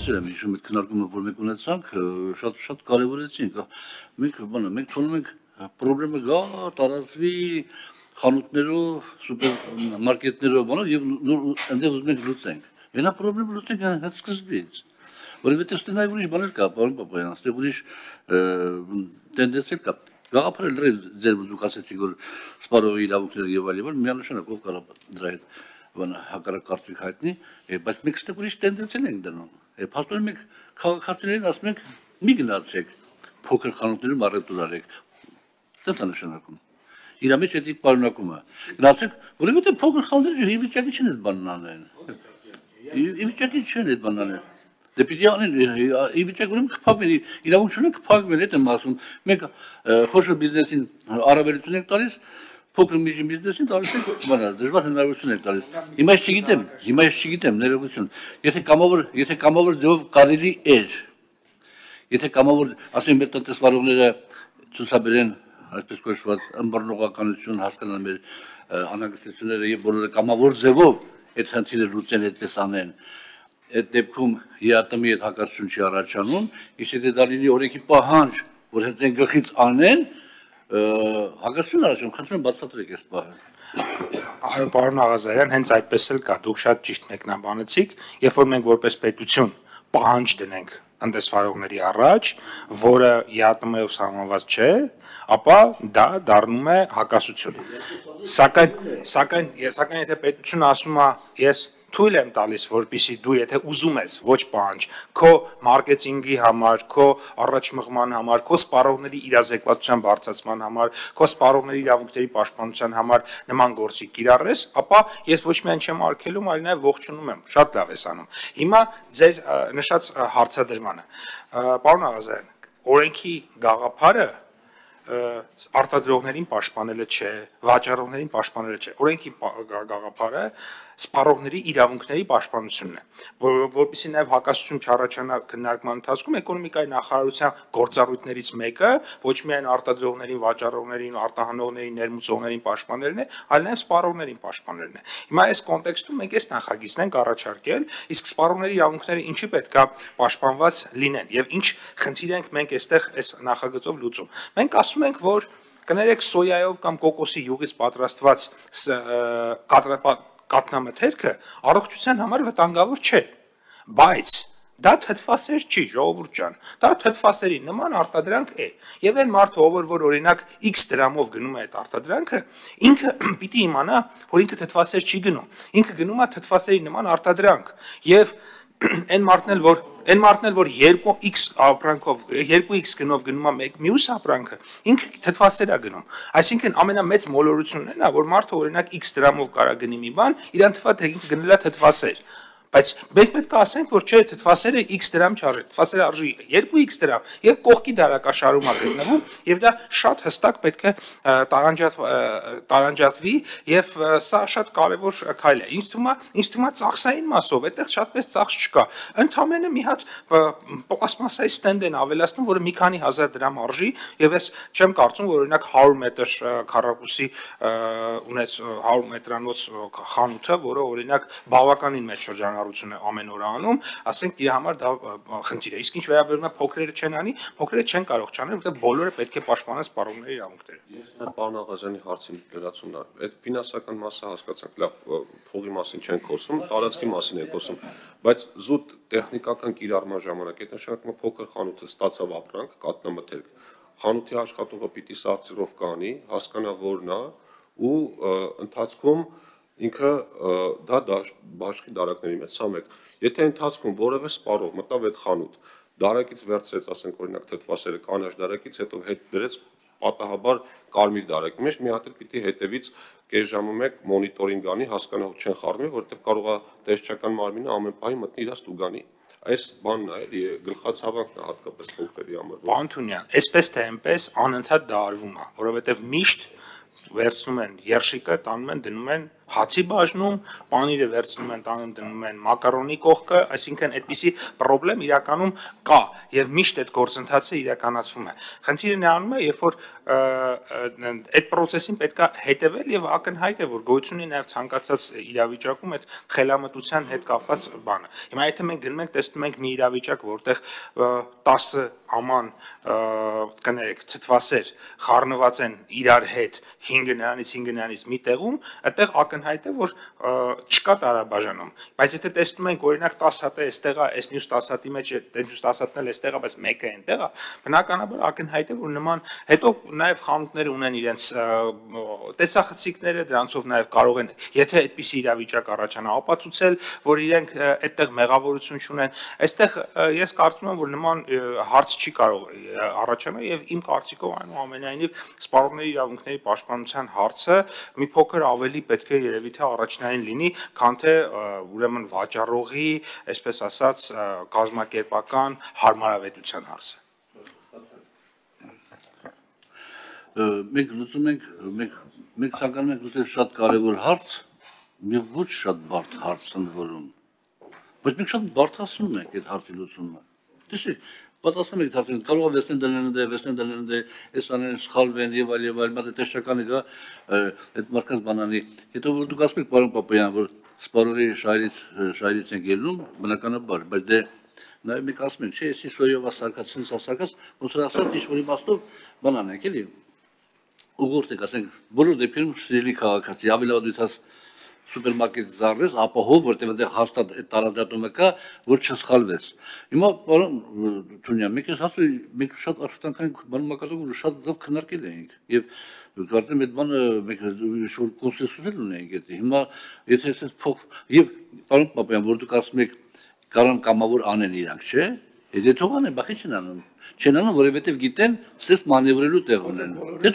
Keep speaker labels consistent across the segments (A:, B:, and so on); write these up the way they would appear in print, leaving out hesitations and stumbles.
A: Հիշում եք քննարկումը, որ մենք ունեցանք, շատ կարևորեցինք։ Մենք թվում ենք պրոբլեմը գա, տարածվի խանութներով, սուպերմարկետներով, եւ այնտեղ ուզում ենք լուծենք։ Նա պրոբլեմը լուծենք հենց սկզբից։ Որովհետեւ ստենայ ուրիշ բաներ կա, պարոն Պապայան, այստեղ ուրիշ տենդենսեր կա։ Գաղափարը լրիվ ձեր դուք ասեցիք, որ սպառողի իրավունքները եւ այլն, միանշանակ ով կարող դրա հետ հակառակ կարծիք հայտնի, բայց մենք ստեղ ուրիշ տենդենսեր ենք դնում։ Փաստորեն մենք քաղաքացիներին ասում ենք՝ մի գնացեք փոքր խանութներում առևտուր արեք։ Դա նշանակում։ Իր մեջ էդի պարունակումը։ Գնացեք, որովհետեւ փոքր խանութները ի վիճակի չեն այդ բանն անեն։ Ի վիճակի չեն այդ բանն անեն։ Դե պիտի անեն, ի վիճակի ունեն կփակվեն, իրավունք չունեն կփակվեն, այդ եմ ասում։ Մենք խոշոր բիզնեսին առավելություն ենք տալիս, փոքր միջին բիզնեսին տալիս ենք դժվար հնարավորություն ենք տալիս։ Հիմա ես չգիտեմ, ներողություն։ Եթե կամավոր ձևով կարելի էր, եթե կամավոր, ասում մեր տնտեսվարողները ցուցաբերեն, այսպես կոչված, ըմբռնողականություն հասկանան մեր անհանգստությունները եւ բոլորը կամավոր ձևով այդ խնդիրը լուծեն, այդպես անեն, այդ դեպքում ԵԱՏՄ-ի հետ հակասություն չի առաջանում, իսկ եթե դա լինի օրենքի պահանջ, որ հենց այն գլխից անեն, հակասություն առաջանում, խնդրում եմ բացատրեք այս պահը։
B: Այո, պարոն Աղազարյան, հենց այդպես էլ կա, դուք շատ ճիշտ մեկնաբանեցիք, երբ որ մենք որպես պետություն պահանջ դնենք տնտեսվարողների առաջ, որը ԵԱՏՄ-ով սահմանված չէ, ապա դա դառնում է հակասություն։ Սակայն եթե պետությունը ասում է, ես թույլ եմ տալիս, որպեսզի դու եթե ուզում ես ոչ պահանջ, քո մարքեթինգի համար, քո առաջմղման համար, քո սպառողների իրազեկվածության բարձրացման համար, քո սպառողների իրավունքների պաշտպանության համար նման գործի կիրառես, ապա ես ոչ միայն չեմ արգելում, այլ նաև ողջունում եմ, շատ լավ ես անում։ Հիմա ձեր նշած հարցադրմանը, պարոն Աղազարյան, օրենքի գաղափարը արտադրողներին պաշտպանելը չէ, վաճառողներին պաշտպանելը չէ, օրենքի գաղափարը սպառողների իրավունքների պաշտպանությունն է, որովհետեւ նաև հակասություն չառաջանա քննարկման ընթացքում էկոնոմիկայի նախարարության գործառույթներից մեկը ոչ միայն արտադրողներին, վաճառողներին, արտահանողներին, ներմուծողներին պաշտպանելն է, այլ նաև սպառողներին պաշտպանելն է։ Հիմա այս կոնտեքստում մենք այս նախագիծն ենք առաջարկել, իսկ սպառողների իրավունքները ինչի պետք է պաշտպանված լինեն եւ ինչ խնդիր ենք մենք այստեղ այս նախագծով լուծում։ Մենք ասում ենք, որ կներեք սոյայով կամ կոկոսի յուղից պատրաստված կատնամթերքը առողջության համար վտանգավոր չէ, բայց դա թթվասեր չի, ժողովուրդ ջան, դա թթվասերի նման արտադրանք է, եւ այն մարդը, որ օրինակ X դրամով գնում է այդ արտադրանքը, ինքը պիտի իմանա, որ ինքը թթվասեր չի գնում, ինքը գնում է թթվասերի նման արտադրանք, եւ այն մարդն էլ, որ 2x ապրանքով, 2x գնով գնում է մյուս ապրանքը, ինքը թթվասեր է գնում։ Այսինքն ամենամեծ մոլորությունն է նա, որ մարդը օրինակ x դրամով կարա գնի մի բան, իրան թվա թե ինքը գնել է թթվասեր։ Բայց մենք պետք է ասենք, որ չէ, թթվասերը x դրամ չարժի, թթվասերը արժի 2x դրամ եւ կողքի դարակաշարում է գտնվում եւ դա շատ հստակ պետք է տարանջատվի եւ սա շատ կարեւոր քայլ է։ Ինձ թվում է ծախսային մասով այդտեղ շատպես ծախս չկա։ Ընդամենը մի հատ պլաստմասայի ստենդ են ավելացնում, որը մի քանի հազար դրամ արժի եւ ես չեմ կարծում, որ օրինակ 100 մետր քառակուսի ունեց 100 մետրանոց խանութը, որը օրինակ բավականին մեծ շրջան ամեն օր անում, ասենք իր համար դա խնդիր է։ Իսկ ինչ վերաբերում է փոքրերը չեն անի, փոքրերը չեն կարող չանել, որովհետև բոլորը պետք է պաշտպանեն սպառողների իրավունքները։
C: Ես պարոն Աղազյանի հարցին լրացումն է։ Այդ ֆինանսական մասը հասկացանք, լավ, փողի մասին չենք խոսում, տարածքի մասին ենք խոսում, բայց զուտ տեխնիկական կիրառման ժամանակ այդ նշանակում է փոքր խանութը ստացավ ապրանք, կատնամթերք, խանութի աշխատողը պիտի սարսիռով կանի, հասկանա որն է ու ընթացքում ինքը դա բաշխի դարակների մեջ սա մեկ։ Եթե ընթացքում որևէ սպառող մտավ այդ խանութ, դարակից վերցրեց, ասենք օրինակ թթվասերը կանաչ դարակից, հետո հետ դրեց պատահաբար կարմիր դարակի մեջ, մի հատ էլ պիտի հետևից կես ժամը մեկ մոնիտորինգ անի, հասկանա որ չեն խառնվի, որովհետև կարող է տեսչական մարմինը ամեն պահի մտնի իր ստուգանի։ Այս բանն է, էլի գլխացավանքն է հատկապես փոքրերի համար։
B: Պարոն Թունյան, այսպես թե այնպես անընդհատ դա արվում է, որովհետև միշտ վերցնում են երշիկը, տանում են, դնում են հացի բաժնում, պանիրը վերցնում են, տանում դնում են մակարոնի կողքը, այսինքն այդպիսի խնդրեմ իրականում կա եւ միշտ այդ գործընթացը իրականացվում է։ Խնդիրը նրանում է, երբ որ այդ process-ին պետք է հետևել եւ ակնհայտ է, որ գոյություն ունի նաեւ ցանկացած իրավիճակում այդ խելամտության հետ կապված բանը։ Հիմա եթե մենք գնում ենք տեսնում ենք մի իրավիճակ, որտեղ 10 աման կներեք թթվասեր խառնված են իրար հետ 5 նրանից մի տեղում, այդտեղ ակնհայտ է, որ չկա տարաբաժանում։ Բայց եթե տեսնում ենք օրինակ 10 հատը այստեղ է, այս մյուս 10 հատի մեջ է, մյուս 10 հատն էլ այստեղ է, բայց մեկը այնտեղ է, բնականաբար ակնհայտ է, որ նման հետո նաև խանութները ունեն իրենց տեսախցիկները, դրանցով նաև կարող են, եթե այդպիսի իրավիճակ առաջանա, ապացուցել, որ իրենք այդտեղ մեղավորություն չունեն։ Այստեղ ես կարծում եմ, որ նման հարց չի կարող առաջանալ եւ իմ կարծիքով այնուամենայնիվ սպառողների իրավունքների պաշտպանության հարցը մի փոքր ավելի պետք է երևի թե առաջնային լինի, քան թե ուրեմն վաճառողի, այսպես ասած, կազմակերպական հարմարավետության հարցը։
A: Մենք լուծում ենք, մենք ցանկանում ենք լուծել շատ կարևոր հարց, եւ ոչ շատ բարդ հարց ընդ որում։ Բայց մենք շատ բարդացնում ենք այդ հարցի լուծումը։ Տեսեք, պատասխանում եք հարցին, կարող է վերցնեն դնեն, այս աներն սխալվեն եւ այլ, բայց տեսչականը գա այդ մարդկանց բանանի։ Հետո որ դուք ասում եք, պարոն Պապայան, որ սպառողի շահերից են ելնում, բնականաբար, բայց դե նաեւ մենք ասում ենք, չէ, էսի սոյով ասարկած, ոնց որ ասած ինչ-որ իմաստով բանան ենք, էլի։ Ուղղորդ եք, ասենք, բոլոր դեպքերում սիրելի քաղաքացի, ավելի լավ դու ցած սուպերմարկետ զարես, ապահով, որտեղ այնտեղ հաստատ այդ տարածատումը կա, որ չսխալվես։ Հիմա պարոն Թունյան, մենք ասում մենք շատ աշխատանքային բան մակարդակով շատ ձև քննարկել էինք եւ կարծեմ այդ բանը մենք ինչ-որ կոնսենսուս ունենք այդ։ Հիմա եթե այսպես փոխ եւ պարոն Պապայան, որ դուք ասում եք կարան կամավոր անեն իրանք, չէ՞։ Եթե թողան են, բախի չեն անում։ Չեն անում, որովհետև գիտեն, ստես մանևրելու տեղ ունեն։ Դե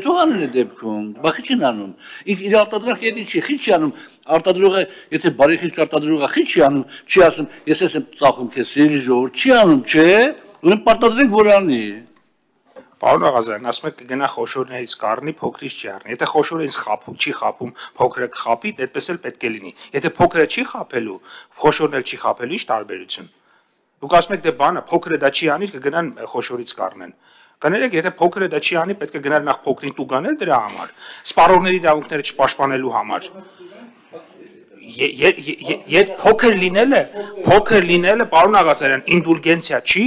A: թողան են դեպքում, բախի չեն անում։ Իր արտադրանքը էդի չի, խի չի անում։ Արտադրողը, եթե բարի խիչ արտադրողը խի չի անում, չի ասում, ես ես եմ ծախում քեզ, սիրելի ժողովուրդ, չի անում, չէ՞։ Ուրեմն պարտադրենք, որ անի։
B: Պարոն Աղազարյան, ասում եք կգնա խոշորներից կառնի, փոքրից չի առնի։ Եթե խոշորը ինձ չի խափում, փոքրը կխափի, այդպես էլ պետք է լինի։ Եթե փոքրը չի խափելու, խոշորն էլ չի խափելու, ի՞նչ տարբերություն։ Դուք ասում եք դե բանը փոքրը դա չի անի, կգնան խոշորից կառնեն։ Կներեք, եթե փոքրը դա չի անի, պետք է գնալ նախ փոքրին տուգանել դրա համար, սպառողների իրավունքները չպաշտպանելու համար։ Եդ փոքր լինելը, պարոն Աղազարյան, ինդուլգենցիա չի,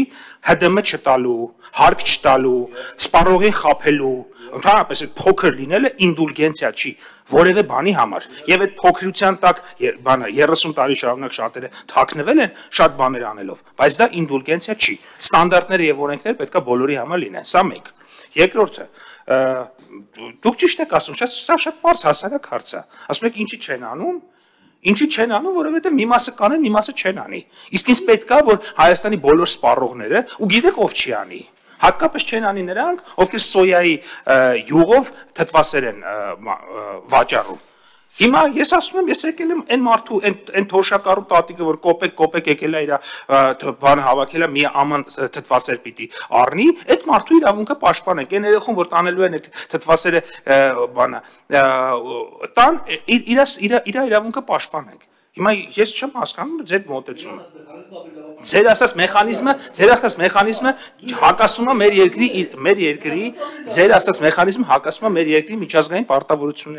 B: ՀԴՄ չտալու, հարկ չտալու, սպառողին խափելու, ընդհանրապես այդ փոքր լինելը ինդուլգենցիա չի, որևէ բանի համար։ Եվ այդ փոքրության տակ բանը 30 տարի շարունակ շատերը թաքնվել են շատ բաներ անելով, բայց դա ինդուլգենցիա չի։ Ստանդարտները եւ օրենքները պետքա բոլորի համար լինեն, սա մեկ։ Երկրորդը, դուք ճիշտ եք ասում, սա շատ բարձ հասարակ հարց է։ Ասում եք ինչի չեն անում։ Ինչի չեն անում, որովհետև մի մասը կանեն, մի մասը չեն անի։ Իսկ ինձ պետք է, որ Հայաստանի բոլոր սպառողները, ու գիտեք ով չի անի, հատկապես չեն անի նրանք, ովքեր սոյայի յուղով թթվասեր են վաճառում։ Հիմա ես ասում եմ, ես եկել եմ այն մարդու, այն թոշակառու տատիկը, որ կոպեկ եկել է իր բանը հավաքել է, մի աման թթվասեր պիտի առնի, այդ մարդու իրավունքը պաշտպանենք, այն երեխուն, որ տանելու են այդ թթվասերը բանը, տան իր իրավունքը պաշտպանենք։ Հիմա ես չեմ հասկանում ձեր մոտեցումը։ Ձեր ասած մեխանիզմը հակասում է մեր երկրի միջազգային պարտավորություններին։